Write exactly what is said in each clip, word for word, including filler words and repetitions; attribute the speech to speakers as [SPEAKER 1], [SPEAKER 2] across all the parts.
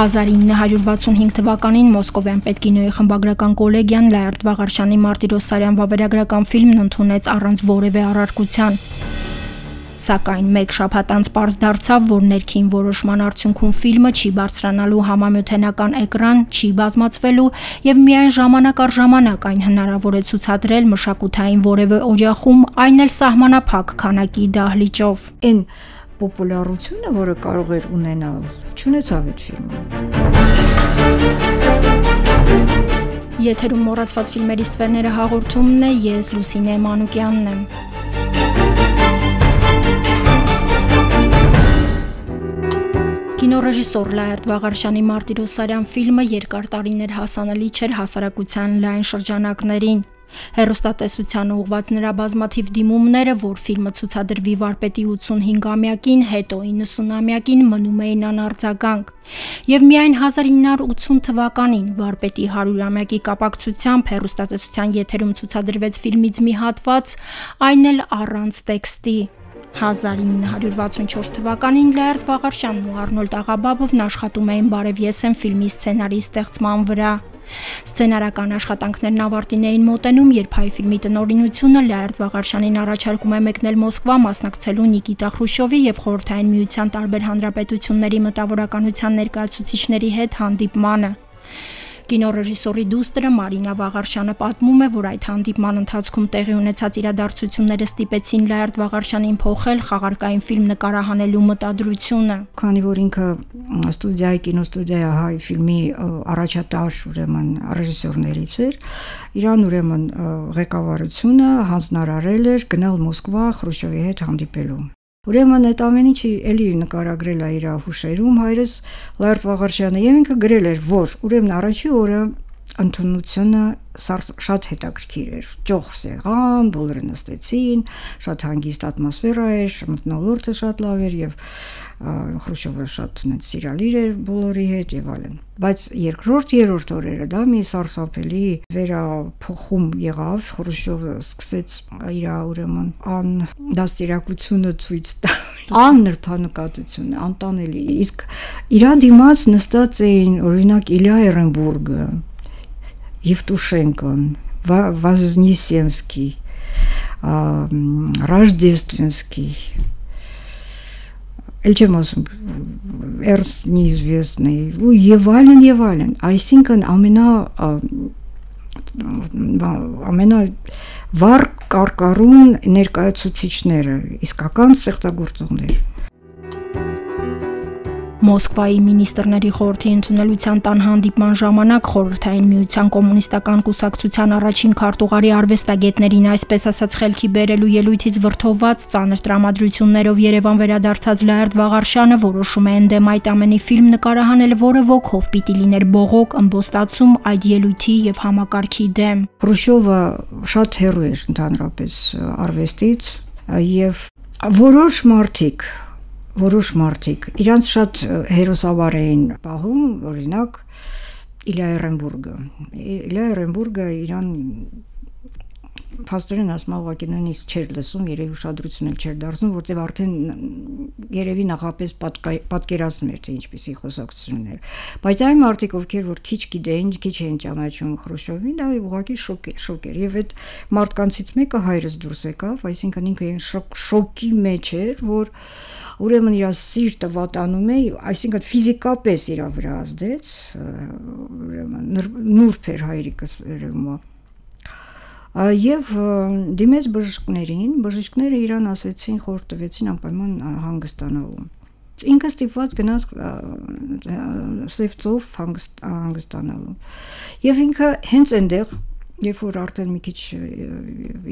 [SPEAKER 1] հազար ինը հարյուր վաթսունհինգ թվականին Մոսկովյան պետկինոյի խմբագրական կոլեգիան Լաերտ Վաղարշյանի Մարտիրոսարյան վավերագրական ֆիլմն ընդունեց առանց որևէ առարկության։ Սակայն մեկ շաբաթ անց պարզ դարձավ, որ ներքին որոշման արդյունքում ֆիլմը չի բարձրանալու համամիութենական էկրան, չի բազմացվելու եւ միայն ժամանակ առ ժամանակ այն հնարավոր է ցուցադրել մշակութային որևէ օջախում, այն էլ սահմանափակ քանակի դահլիճով։
[SPEAKER 2] Այն պոպուլարությունը, որը կարող էր ունենալ, չունեցավ այդ ֆիլմը։
[SPEAKER 1] Եթերում մոռացված ֆիլմերի ստվերները հաղորդումն է, ես Լուսինե Մանուկյանն եմ։ Կինոռեժիսոր Լաերտ Վաղարշյանի Մարտիրոսարյան ֆիլմը երկար տարիներ հասանելի չէր հասարակության լայն շրջանակներին։ Հեռուստատեսությանը ուղղված նրա բազմաթիվ դիմումները, որ ֆիլմը ցուցադրվի վարպետի ութսունհինգամյակին, հետո իննսունամյակին մնում էին անարձագանք։ Եվ միայն հազար ինը հարյուր ութսուն թվականին վարպետի հարյուրամյակի կապակցությամբ հեռուստատեսության եթերում ցուցադրվեց ֆիլմից մի հատված, այն էլ առանց տեքստի։ հազար ինը հարյուր վաթսունչորս թվականին Լաերտ Վաղարշյանն ու Արնոլդ Աղաբաբովն աշխատում էին «Բարև ես եմ» ֆիլմի սցենարի ստեղծման վրա։ Սցենարական աշխատանքներն ավարտին էին մոտենում, երբ հայ ֆիլմի տնօրինությունը Լաերտ Վաղարշյանին առաջարկում է մեկնել Մոսկվա մասնակցելու Նիկիտա Խրուշչովի եւ Խորհրդային Միության տարբեր հանրապետությունների մտավորականության ներկայացուցիչների հետ հանդիպմանը։ Կինոռեժիսորի դուստրը Մարինա Վաղարշյանը պատմում է, որ այդ հանդիպման ընթացքում տեղի ունեցած իրադարձությունները ստիպեցին Լաերտ Վաղարշյանին փոխել խաղարկային ֆիլմ նկարահանելու մտադրությունը։
[SPEAKER 2] Քանի որ ինքը ստուդիայի կինոստուդիայի հայ ֆիլմի առաջատար ուրեմն ռեժիսորներից էր, իրան ուրեմն ղեկավարությունը հանձնարարել էր գնալ Մոսկվա Խրուշչովի հետ հանդիպելու։ Ուրեմն այդ ամեն ինչը էլի նկարագրել է իր հուշերում հայրս Լաերտ Վաղարշյանը եւ ինքը գրել էր, որ ուրեմն առաջի օրը ընդունությունը շատ հետաքրքիր էր, ճոխ սեղան, բոլորը նստեցին, շատ հանգիստ ատմոսֆերա էր, մթնոլորտը շատ լավ էր եւ Խրուշչովը շատ նենց սիրալիր էր բոլորի հետ եւ այլն։ Բայց երկրորդ երրորդ օրերը դա մի սարսափելի վերափոխում եղավ, Խրուշչովը սկսեց իր ուրեմն ան դաստիարակությունը ցույց տալ, աննրբանկատությունը, անտանելի։ Իսկ իր դիմաց նստած էին օրինակ Իլյա Էրենբուրգը, Եվտուշենկոն, Вознесенский, Рождественский, էլ չեմ ասում, Էրնստ Նիզվեսնի, եւ այլն եւ այլն, այսինքն ամենա ամենա վառ կարկառուն ներկայացուցիչները, իսկական ստեղծագործողներ։
[SPEAKER 1] Մոսկվայի մինիստրների խորհրդի ընդունելության տան հանդիպման ժամանակ Խորհրդային Միության կոմունիստական կուսակցության առաջին քարտուղարի արվեստագետներին այսպես ասած խելքի բերելու ելույթից վրդովված ծանր տրամադրություններով Երևան վերադարձած Լաերտ Վաղարշյանը որոշում է ընդդեմ այդ ամենի ֆիլմ նկարահանել, որը ոգով պիտի լիներ բողոք, ըմբոստացում այդ ելույթի եւ համակարգի դեմ։
[SPEAKER 2] Խրուշչովը շատ հեռու էր ընդհանրապես արվեստից եւ որոշ մարդիկ Որոշ մարդիկ իրանց շատ հերոսաբար էին պահում, օրինակ Իլյա Էրենբուրգը։ Իլյա Էրենբուրգը իրան փաստորեն ասում ուղղակի նույնիսկ չէր լսում, երևի ուշադրություն էլ չէր դարձնում, որտեղ արդեն երևի նախապես պատկերացնում էր, թե ինչպիսի խոսակցություններ։ Բայց այն մարդիկ, ովքեր որ քիչ գիտեին, քիչ էին ճանաչում Խրուշչովին, դա ուղղակի շոկ շոկ էր։ Եվ այդ մարդկանցից մեկը հայրս դուրս եկավ, այսինքն ինքը շոկի մեջ էր, որ ուրեմն իր սիրտը վատանում է, այսինքն ֆիզիկապես իր վրա ազդեց, ուրեմն նուրբ էր հայրիկս երևում է։ Եվ դիմեց բժիշկներին, բժիշկները իրան ասեցին, խորհուրդ տվեցին անպայման հանգստանալու։ Ինքը ստիպված գնաց Սևծով հանգստանալու։ Եվ ինքը հենց այնտեղ, երբ որ արդեն մի քիչ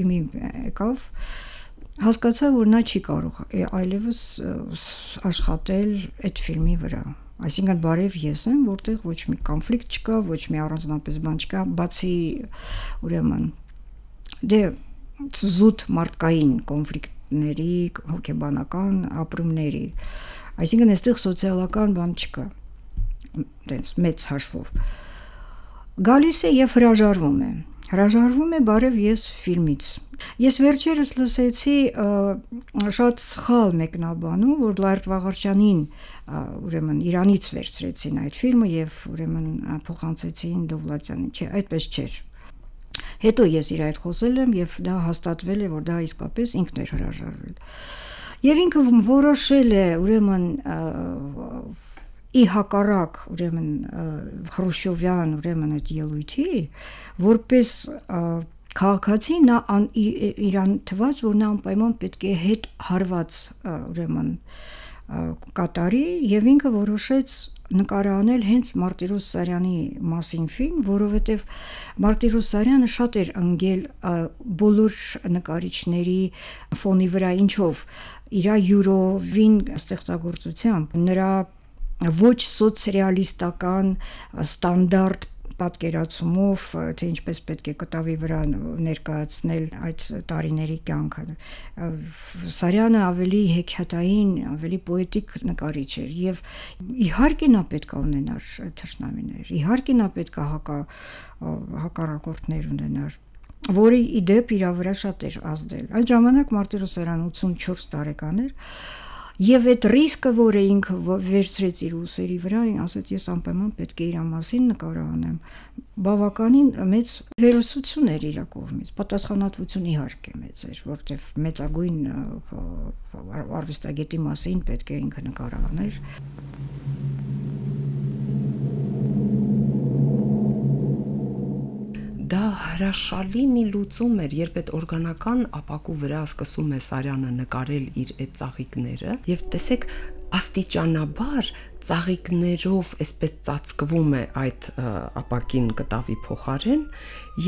[SPEAKER 2] իմի եկավ, հասկացա, որ նա չի կարող այլևս աշխատել այդ ֆիլմի վրա։ Այսինքն բարև ես եմ, որտեղ ոչ մի կոնֆլիկտ չկա, ոչ մի առանձնապես բան չկա, բացի ուրեմն դե զուտ մարդկային կոնֆլիկտների, հոգեբանական ապրումների։ Այսինքն այստեղ սոցիալական բան չկա, տենց մեծ հաշվով։ Գալիս է եւ հրաժարվում է։ Հրաժարվում է բարև ես ֆիլմից։ Ես վերջերս լսեցի շատ սխալ մեկնաբանում, որ Լայրդ Վաղարշյանին ուրեմն Իրանից վերցրեցին այդ ֆիլմը եւ ուրեմն փոխանցեցին Դովլաթյանին, չէ, այդպես չէր։ Հետո ես իր հետ խոսել եմ եւ դա հաստատվել է, որ դա իսկապես ինքն էր հրաժարվել։ Եվ ինքը որոշել է ուրեմն ի հակառակ ուրեմն Խրուշչովյան ուրեմն այդ ելույթի, որպես քաղաքացի նա իրան թվաց, որ նա անպայման պետք է հետ հարված ուրեմն կատարի եւ ինքը որոշեց նկարահանել հենց Մարտիրոս Սարյանի մասին ֆիլմ, որովհետեւ Մարտիրոս Սարյանը շատ էր ընկել բոլոր նկարիչների ֆոնի վրա, ինչով իր յուրովին ստեղծագործությամբ, նրա ոչ սոցրեալիստական ստանդարտ պատկերացումով, թե ինչպես պետք է կտավի վրա ներկայացնել այդ տարիների կյանքը։ Սարյանը ավելի հեքիաթային, ավելի պոետիկ նկարիչ էր եւ իհարկե նա պետք է ունենար թշնամիներ, իհարկե նա պետք է հակա հակառակորդներ ունենար, որի իդեպ իր վրա շատ էր ազդել։ Այդ ժամանակ Մարտիրոս Սարյանը ութսունչորս տարեկան էր։ Եվ այդ ռիսկը, որը ինքը վերցրեց իր ուսերի վրա, ասաց ես անպայման պետք է իր մասին նկարահանեմ, բավականին մեծ հերոսություն էր իր կողմից, պատասխանատվություն իհարկե մեծ էր, որտեղ մեծագույն արվեստագետի մասին պետք է ինքը նկարահաներ։
[SPEAKER 3] Դա հրաշալի մի լուծում էր, երբ այդ օրգանական ապակու վրա սկսում է Սարյանը նկարել իր այդ ծաղիկները, եւ տեսեք աստիճանաբար ծաղիկներով այսպես ծածկվում է այդ ապակին կտավի փոխարեն,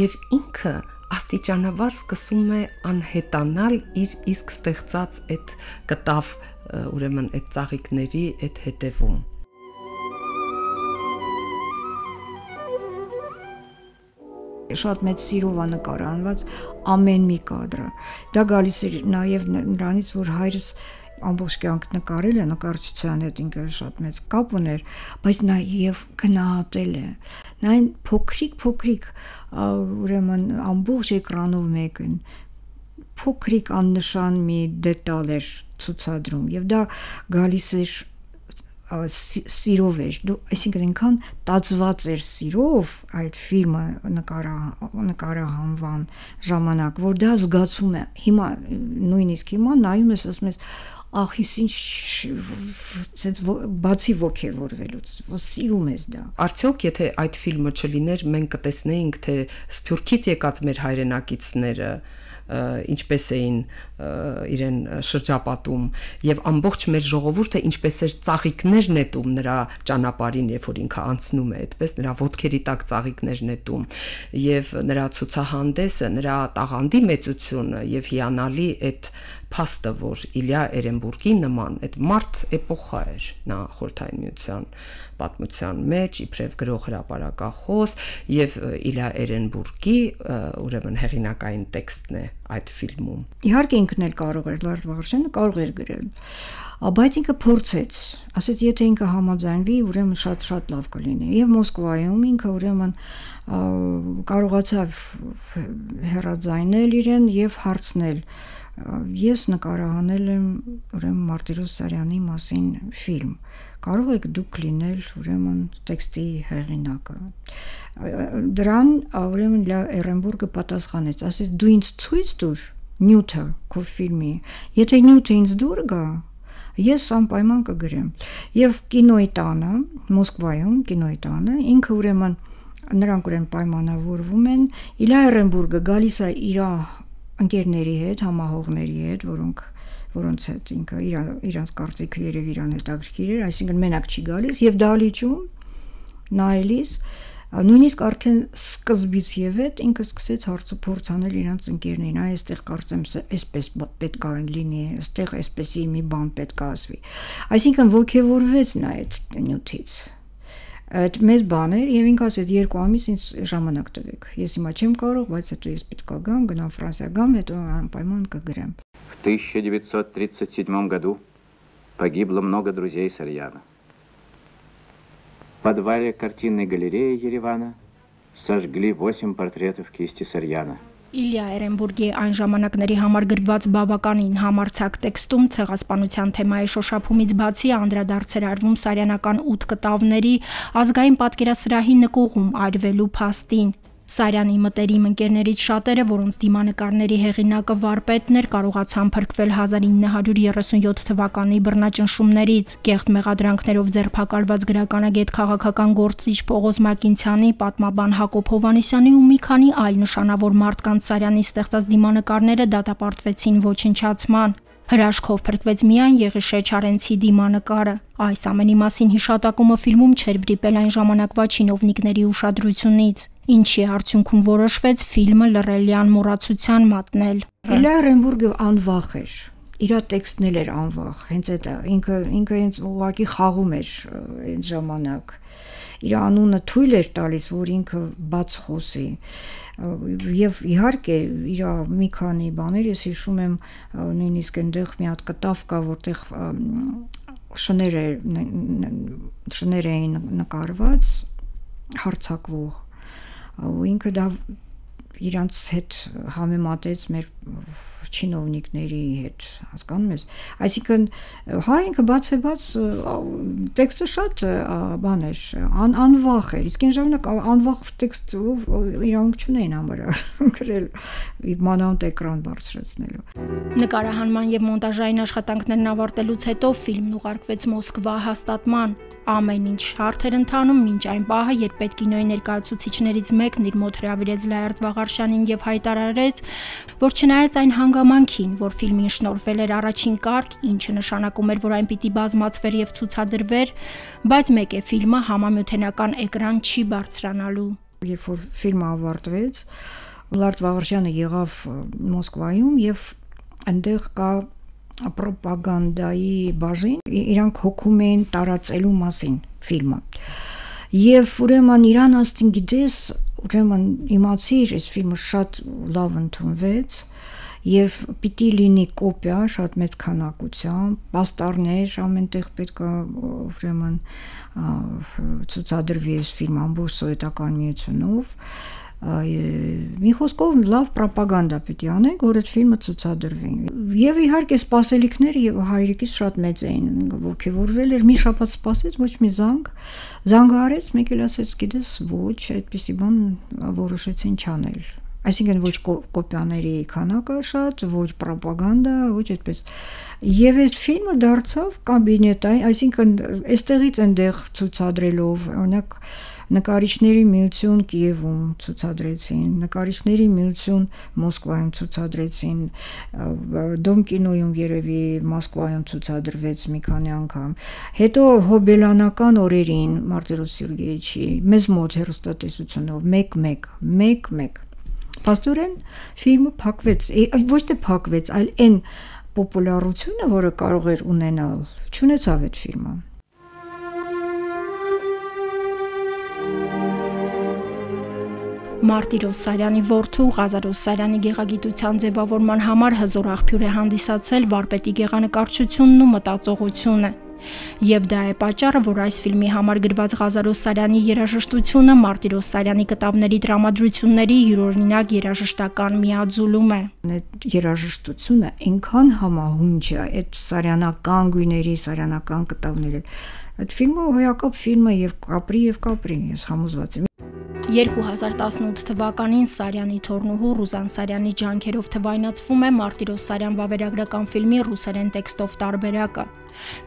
[SPEAKER 3] եւ ինքը աստիճանաբար սկսում է անհետանալ իր իսկ ստեղծած այդ կտավ, ուրեմն այդ ծաղիկների այդ հետևում։
[SPEAKER 2] Շատ մեծ սիրով է նկարահանված ամեն մի կադրը։ Դա գալիս էր նաև նրանից, որ հայրս ամբողջ կյանք նկարել է, նկարչության հետ ինքը շատ մեծ կապ ուներ, բայց նաև գնահատել է։ Նա այն փոքրիկ-փոքրիկ ուրեմն ամբողջ էկրանով մեկն փոքրիկ աննշան մի դետալ էր ցուցադրում եւ դա գալիս էր սիրով էր, այսինքն ինքան տածված էր սիրով այդ ֆիլմը նկարահանվան ժամանակ, որ դա զգացում է, հիմա, նույնիսկ հիմա նայում ես, ասում ես, ախ, ես ինչ բացի ոգևորվելուց, սիրում ես դա։
[SPEAKER 3] Արդյոք, եթե այդ ֆիլմը չլիներ, մենք կտեսնեինք, թե Սփյուռքից եկած մեր հայրենակիցները ինչպես էին իրեն շրջապատում եւ ամբողջ մեր ժողովուրդը ինչպես էր ծաղիկներ նետում նրա ճանապարհին, երբ որ ինքը անցնում է, այդպես նրա ոտքերի տակ ծաղիկներ նետում եւ նրա ցուցահանդեսը, նրա տաղանդի մեծությունը եւ հիանալի այդ փաստը, որ Իլյա Էրենբուրգի նման այդ մարդ էպոխա էր նա Խորհրդային Միության պատմության մեջ, իբրև գրող հրապարակախոս եւ Իլյա Էրենբուրգի ուրեմն հեղինակային տեքստն է այդ ֆիլմում։
[SPEAKER 2] Իհարկե ինքն էլ կարող էր, Լայրդ Վաղարշյանը կարող էր գրել, բայց ինքը փորձեց, ասեց եթե ինքը համաձայնվի, ուրեմն շատ-շատ լավ կլինի։ Եվ Մոսկվայում ինքը ուրեմն կարողացավ հեռաձայնել իրեն եւ հարցնել ես նկարահանել եմ ուրեմն Մարտիրոս Սարյանի մասին ֆիլմ, կարող եք դուք լինել ուրեմն տեքստի հեղինակը։ Դրան ուրեմն Էրենբուրգը պատասխանեց, ասեց դու ինձ ցույց տուր նյութը քո ֆիլմի, եթե նյութը ինձ դուր գա, ես անպայման կգրեմ։ Եվ կինոյի տանը, Մոսկվայում կինոյի տանը, ինքը ուրեմն նրանք ուրեմն պայմանավորվում են, Իլյա Էրենբուրգը գալիս է իր ընկերների հետ, համահողների հետ, որոնք որոնց հետ ինքը իրանց կարծիքը երևի իրան հետաքրքիր էր, այսինքն մենակ չի գալիս եւ դահլիճում նայելիս նույնիսկ արդեն սկզբից եւ հետ ինքը սկսեց հարցուփորձ անել իրանց ընկերներին, այ այստեղ կարծեմ այսպես պետք է լինի, այստեղ այսպեսի մի բան պետք է ասվի։ Այսինքն ոգևորվեց նա այդ նյութից։ Այդ մեծ բան էր եւ ինքը ասեց երկու ամիս ինձ ժամանակ տվեք։ Ես հիմա չեմ կարող, բայց հետո ես պետք է գամ, գնամ Ֆրանսիա գամ, հետո անպայման կգրեմ։
[SPEAKER 4] В тысяча девятьсот тридцать седьмом году погибло много друзей Сарьяна. В подвале картинной галереи Еревана сожгли восемь портретов кисти Сарьяна.
[SPEAKER 1] Իլյա Էրենբուրգի այն ժամանակների համար գրված բավականին համարձակ տեքստում ցեղասպանության թեմայի շոշափումից բացի անդրադարձեր արվում սարյանական ութ կտավների ազգային պատկերասրահի նկուղում այրվելու փաստին։ Սարյանի մտերիմ ընկերներից շատերը, որոնց դիմանկարների հեղինակը վարպետն էր, կարողացան փրկվել հազար ինը հարյուր երեսունյոթ թվականի բռնաճնշումներից։ Կեղծ մեղադրանքներով ձերբակալված գրականագետ քաղաքական գործիչ Պողոս Մակինցյանի, պատմաբան Հակոբ Հովհաննիսյանի ու մի քանի այլ նշանավոր մարդկանց Սարյանի ստեղծած դիմանկարները դատապարտվեցին ոչնչացման։ Հրաշքով փրկվեց միայն Եղիշե Չարենցի դիմանկարը։ Այս ամենի մասին հիշատակումը ֆիլմում չէր վրիպել այն ժամանակվա չինովնիկների ուշադրությունից, ինչի արդյունքում որոշվեց ֆիլմը լռելյան մոռացության մատնել։
[SPEAKER 2] Իլյա Էրենբուրգը անվախ էր, իր տեքստն էլ էր անվախ, հենց այդ ինքը ինքը հենց ուղղակի խաղում էր այդ ժամանակ։ Իր անունը թույլ էր տալիս, որ ինքը բաց խոսի։ Եվ իհարկե իր մի քանի բաներ ես հիշում եմ, նույնիսկ այնտեղ մի հատ կտավ կա, որտեղ շներ է շներ էին նկարված հարցակվող, ու ինքը դա իրանց հետ համեմատեց մեր չինովնիկների հետ, հասկանում ես, այսինքն հա ինքը բաց է բաց տեքստը շատ բան էր, անվախ էր, իսկ այն ժամանակ անվախ տեքստ իրանք չունեին համարյա գրել մանավանդ էկրան բարձրացնելու։
[SPEAKER 1] Նկարահանման եւ մոնտաժային աշխատանքներն ավարտելուց հետո ֆիլմն ուղարկվեց Մոսկվա հաստատման։ Ամեն ինչ հարթ էր ընթանում մինչ այն պահը, երբ պետքինոյի ներկայացուցիչներից մեկն իր մոտ հրավիրեց Լայարդ Վաղարշյանին եւ հայտարարեց, որ չնայած այն հանգամանքին, որ ֆիլմին շնորհվել էր առաջին կարգ, ինչը նշանակում էր, որ այն պիտի բազմացվեր եւ ցուցադրվեր, բայց մեկ է ֆիլմը համամյութենական էկրան չի բարձրանալու։
[SPEAKER 2] Երբ որ ֆիլմը ավարտվեց, Լայարդ Վաղարշյանը եղավ Մոսկվայում եւ այնտեղ կա պրոպագանդայի բաժին, իրանք հոգում էին տարածելու մասին ֆիլմը։ Եվ ուրեմն իրան աստին գիտես, ուրեմն իմացիր, այս ֆիլմը շատ լավ ընդունվեց եւ պիտի լինի կոպիա շատ մեծ քանակությամբ, պաստառներ ամենտեղ պետք է ուրեմն ցուցադրվի այս ֆիլմը ամբողջ սովետական միությունով։ Մի խոսքով լավ պրոպագանդա պիտի անենք, որ այդ ֆիլմը ցուցադրվի։ Եվ իհարկե սպասելիքները եւ հայրիկից շատ մեծ էին, ոգևորվել էր, մի շաբաթ սպասեց, ոչ մի զանգ, զանգը արեց, մեկ էլ ասեց, գիտես, ոչ, այդպիսի բան որոշեցին չանել։ Այսինքն ոչ կոպիաների քանակը շատ, ոչ պրոպագանդա, ոչ այդպես։ Եվ այդ ֆիլմը դարձավ կաբինետային, այսինքն այստեղից այնտեղ ցուցադրելով, օրինակ նկարիչների միություն Կիևում ցուցադրեցին, նկարիչների միություն Մոսկվայում ցուցադրեցին, Դոմ կինոյում երևի Մոսկվայում ցուցադրվեց մի քանի անգամ։ Հետո հոբելյանական օրերին Մարտիրոս Սերգեյիչի մեզ մոտ հեռուստատեսությունով մեկ-մեկ, մեկ-մեկ։ Փաստորեն ֆիլմը փակվեց, ոչ թե փակվեց, այլ այն պոպուլարությունը, որը կարող էր ունենալ, չունեցավ այդ ֆիլմը։
[SPEAKER 1] Մարտիրոս Սարյանի որդու Ղազարոս Սարյանի գեղագիտության ձևավորման համար հզոր աղբյուր է հանդիսացել վարպետի գեղանկարչությունն ու մտածողությունը։ Եվ դա է պատճառը, որ այս ֆիլմի համար գրված Ղազարոս Սարյանի երաժշտությունը Մարտիրոս Սարյանի կտավների տրամադրությունների յուրօրինակ երաժշտական միաձուլում է։
[SPEAKER 2] Այդ երաժշտությունը այնքան համահունչ է այդ սարյանական գույների, սարյանական կտավների։ Այդ ֆիլմը հոյակապ ֆիլմ է եւ կապրի եւ կապրի, ես համոզված եմ։
[SPEAKER 1] երկու հազար տասնութ թվականին Սարյանի թորնուհու Ռուզան Սարյանի ջանքերով թվայնացվում է Մարտիրոս Սարյան վավերագրական ֆիլմի ռուսերեն տեքստով տարբերակը։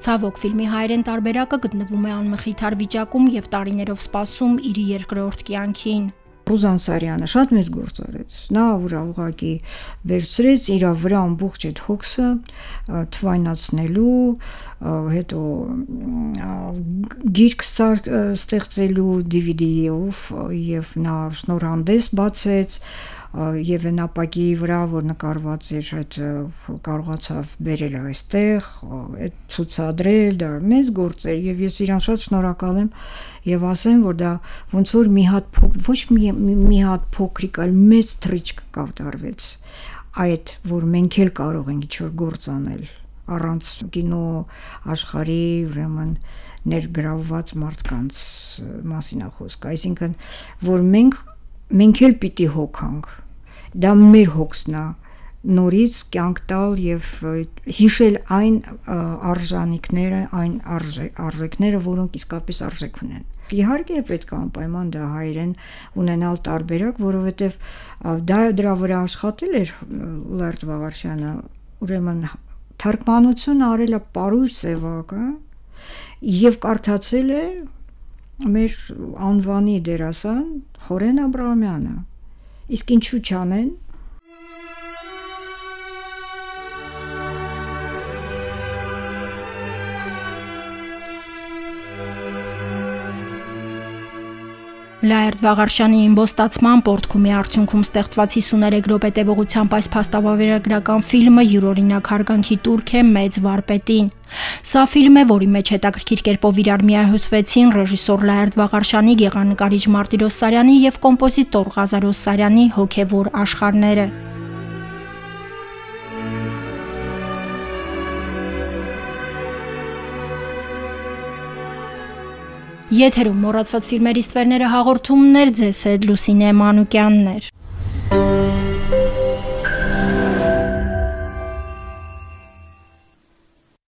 [SPEAKER 1] Ցավոք ֆիլմի հայերեն տարբերակը գտնվում է անմխիթար վիճակում եւ տարիներով սպասում իր երկրորդ կյանքին։
[SPEAKER 2] Ռուզան Սարյանը շատ մեծ գործ արեց։ Նա ուրա ուղակի վերցրեց իր վրա ամբողջ այդ հոգսը թվայնացնելու, հետո գիրք ստեղծելու դի վի դի-ով եւ նա շնորհանդես բացեց եւ այն ապակի վրա, որ նկարված էր, այդ կարողացավ բերել այստեղ, այդ ցուցադրել, դա մեծ գործ էր եւ ես իրան շատ շնորհակալ եմ եւ ասեմ, որ դա ոնց որ մի հատ ոչ մի մի հատ փոքրիկ, այլ մեծ թրիչք կատարվեց այդ, որ մենք էլ կարող ենք ինչ-որ գործ անել առանց կինո աշխարհի ուրեմն ներգրավված մարդկանց մասին է խոսքը, այսինքն որ մենք մենք էլ պիտի հոգանք։ Դա մեր հոգսն է, նորից կյանք տալ եւ հիշել այն արժանինքները, այն արժեքները, որոնք իսկապես արժեք ունեն։ Իհարկե պետք է անպայման դա հայերեն ունենալ տարբերակ, որովհետեւ դա դրա վրա աշխատել էր Լերտ Վաղարշյանը, ուրեմն թարգմանություն արել է Պարույր Սևակը եւ կարդացել է մեր անվանի դերասան Խորեն Աբրահամյանը։ Իսկ ինչու չանեն։
[SPEAKER 1] Լաերտ Վաղարշյանի իմբոստացման պորտկումի արդյունքում ստեղծված հիսուներեք րոպե տևողությամբ այս փաստավավերագրական ֆիլմը յուրօրինակ հարգանքի տուրք է մեծ վարպետին։ Սա ֆիլմ է, որի մեջ հետաքրքիր կերպով իրար միահյուսվեցին ռեժիսոր Լաերտ Վաղարշյանի, գեղանկարիչ Մարտիրոս Սարյանի եւ կոմպոզիտոր Ղազարոս Սարյանի հոգեվոր աշխարհները։ Եթերում մոռացված ֆիլմերի ստվերները հաղորդումներ, ձեզ հետ Լուսինե Մանուկյանն էր։